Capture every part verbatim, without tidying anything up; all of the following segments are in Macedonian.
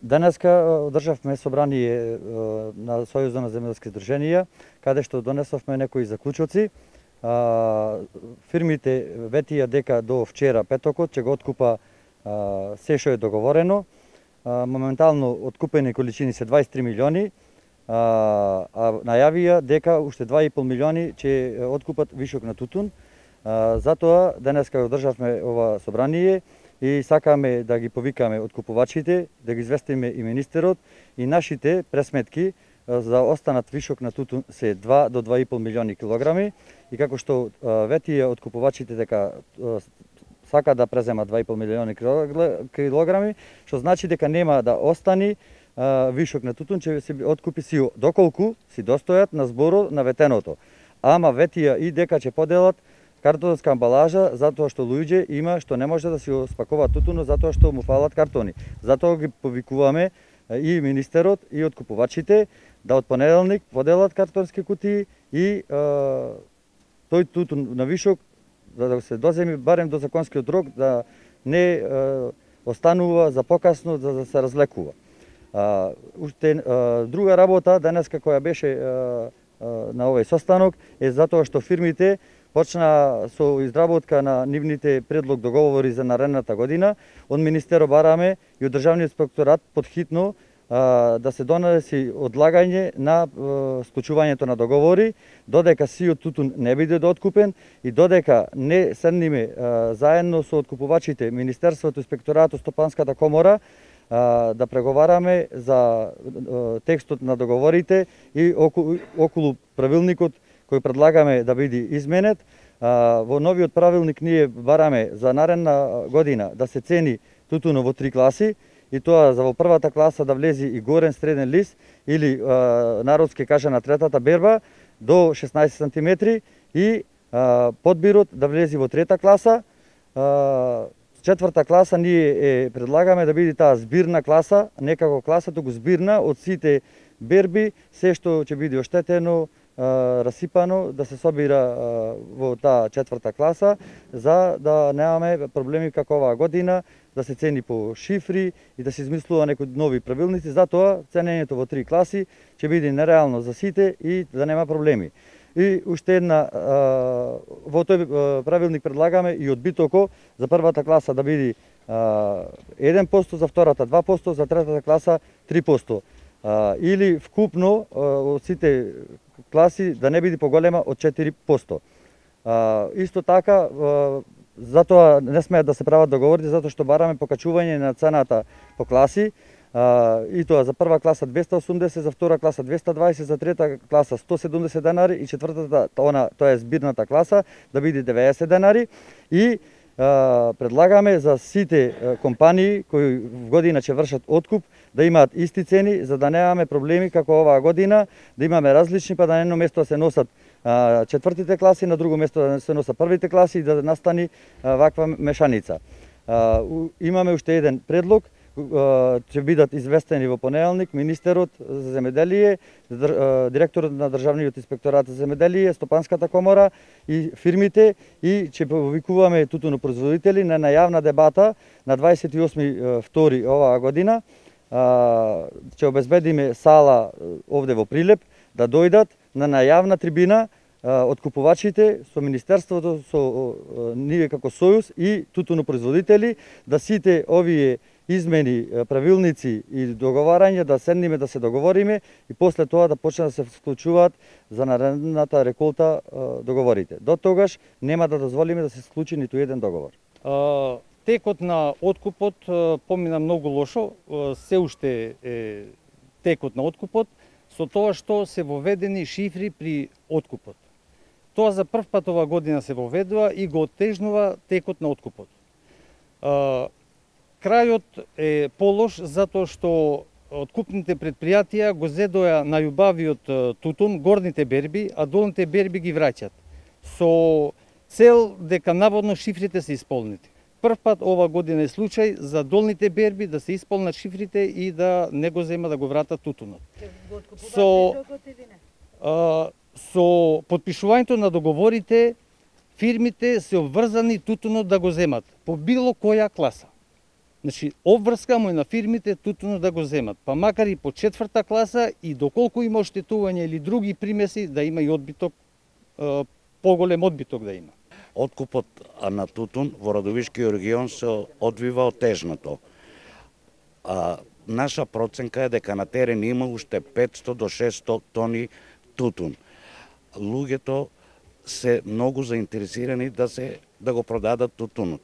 Денеска одржавме собрание на Сојузот на земјоделски здруженија, каде што донесовме некои заклучоци. Фирмите ветија дека до вчера петокот ќе го откупа се што е договорено. Моментално откупени количини се дваесет и три милиони, а најавија дека уште два и пол милиони ќе откупат вишок на тутун. Затоа денеска одржавме ова собрание и сакаме да ги повикаме откупувачите, да ги известиме и министерот и нашите пресметки за останат вишок на тутун се два до два и пол милиони килограми и како што ветија откупувачите дека сака да преземат два и пол милиони килограми, што значи дека нема да остани вишок на тутун, ќе се откупи си доколку си достојат на зборот на ветеното. Ама ветија и дека ќе поделат картонска амбалажа затоа што луѓе има што не може да си спакуваат тутуно затоа што му фалат картони. Затоа ги повикуваме и министерот и откупувачите да од понеделник поделат картонски кутии и а, тој тутун на вишок да се доземи барем до законскиот рок, да не а, останува за покасно за да се разлекува. А, уште а, друга работа денеска која беше а, а, на овој состанок е затоа што фирмите почна со изработка на нивните предлог договори за наредната година. Од министерот бараме и од државниот инспекторат подхитно а, да се донеси одлагање на а, склучувањето на договори, додека сиот тутун не биде откупен и додека не седниме а, заедно со откупувачите, министерството, инспекторатот, стопанската комора, а, да преговараме за а, текстот на договорите и околу, околу правилникот кој предлагаме да биде изменет. Во новиот правилник ние бараме за наредна година да се цени тутуно во три класи и тоа за во првата класа да влези и горен среден лист или народски кажа на третата берба до шеснаесет сантиметри и подбирот да влези во трета класа. Четврта класа ние е предлагаме да биде таа збирна класа, не како класа, туку збирна од сите берби, се што ќе биде оштетено, расипано, да се собира во таа четврта класа, за да немаме проблеми како оваа година, да се цени по шифри и да се измислува некои нови правилници. Затоа ценењето во три класи ќе биде нереално за сите и да нема проблеми. И уште една, во тој правилник предлагаме и одбитоко за првата класа да биде еден процент, за втората два проценти, за третата класа три проценти. Или вкупно од сите класи да не биде поголема од четири проценти. Исто така, затоа не смеат да се прават договори, затоа што бараме покачување на цената по класи, и тоа за прва класа двеста осумдесет, за втора класа двеста дваесет, за трета класа сто седумдесет денари и четвртата, она, тоа е збирната класа, да биде деветдесет денари. И предлагаме за сите компании кои в година ќе вршат откуп да имаат исти цени, за да немаме проблеми како оваа година, да имаме различни, па да на едно место се носат четвртите класи, на друго место да се носат првите класи и да настани ваква мешаница. Имаме уште еден предлог, ќе бидат известени во понеделник министерот за земјоделие, директорот на државниот инспекторат за земјоделие, стопанската комора и фирмите, и ќе повикуваме тутунопроизводители на најавна дебата на дваесет и осми втори оваа година. Ќе обезбедиме сала овде во Прилеп да дојдат на најавна трибина откупувачите со министерството, со ние како сојуз и тутунопроизводители, да сите овие измени, правилници и договарања да седниме да се договориме и после тоа да почне да се склучуваат за наредната реколта договорите. До тогаш нема да дозволиме да се склучи ниту еден договор. Текот на откупот помина многу лошо, се уште е текот на откупот, со тоа што се воведени шифри при откупот. Тоа за прв пат ова година се воведува и го оттежнува текот на откупот. Крајот е полош затоа што откупните предпријатија го зедоја најубавиот тутун, горните берби, а долните берби ги враќат. Со цел дека наводно шифрите се исполнети. Прв пат ова година е случај за долните берби да се исполнат шифрите и да не го зема да го вратат тутунот. Со, а, со подпишувањето на договорите, фирмите се обврзани тутунот да го земат по било која класа. Значи, обврска му е на фирмите тутунот да го земат, па макар и по четврта класа и доколку има оштетување или други примеси, да има и одбиток, поголем одбиток да има. Откупот на тутун во Радовишкиот регион се одвива отежнато. А, наша проценка е дека на терен има уште петсто до шесто тони тутун. Луѓето се многу заинтересирани да се да го продадат тутунот.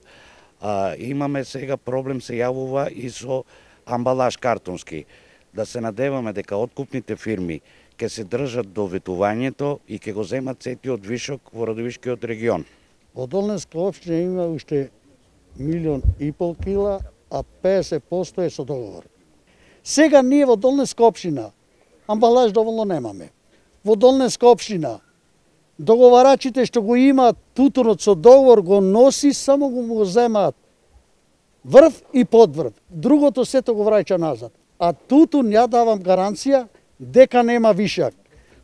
А, имаме сега проблем се јавува и со амбалаж картонски. Да се надеваме дека откупните фирми ќе се држат до ветувањето и ќе го земат сетиот вишок во Радовишкиот регион. Во Долненска општина има уште милион и пол кила, а педесет проценти е со договор. Сега ние во Долненска општина амбалаж доволно немаме. Во Долненска општина договарачите што го имаат тутунот со договор го носи, само го му земаат врв и подврв. Другото сето го враќа назад. А тутун ја давам гаранција дека нема вишак.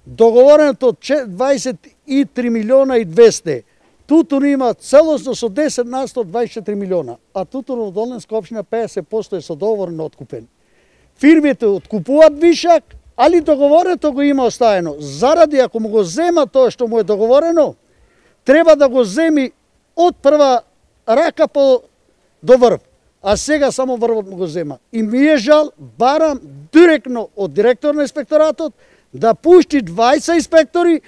Договореното дваесет и три милиона и двесте. Тутун има целосно со десет на сто дваесет и четири милиона, а тутун во Долненска општина педесет проценти е со договор откупен. Фирмите откупуваат вишак, али договорено го има оставено. Заради ако му го зема тоа што му е договорено, треба да го земи од прва рака по до врв. А сега само врвот му го зема. И ми е жал, барам директно од директор на инспекторатот да пушти дваесет инспектори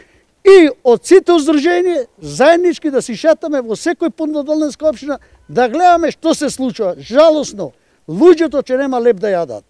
и од сите уздружени заеднички да си шетаме во секој пункт на Долненска општина да гледаме што се случува. Жалосно, луѓето че нема леп да јадат.